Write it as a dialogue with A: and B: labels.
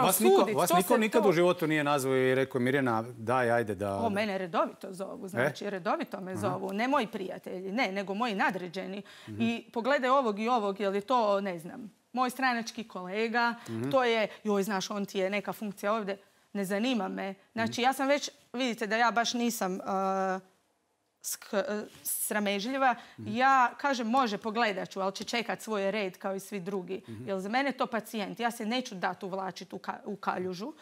A: zapravo suditi.
B: Vas niko nikad u životu nije nazvao i rekao Mirjana, daj, ajde da...
A: Mene redovito zovu, znači redovito me zovu. Ne moji prijatelji, ne, nego moji nadređeni. I pogledaj ovog i ovog, je li to, ne znam, moj stranački kolega, to je, joj, znaš, on ti je neka funkcija ovdje, ne zanima me. Znači, ja sam već, vidite da ja baš nisam sramežljiva. Ja kažem, može, pogledat ću, ali će čekat svoj red kao i svi drugi. Jer za mene je to pacijent. Ja se neću dati uvlačiti u kaljužu.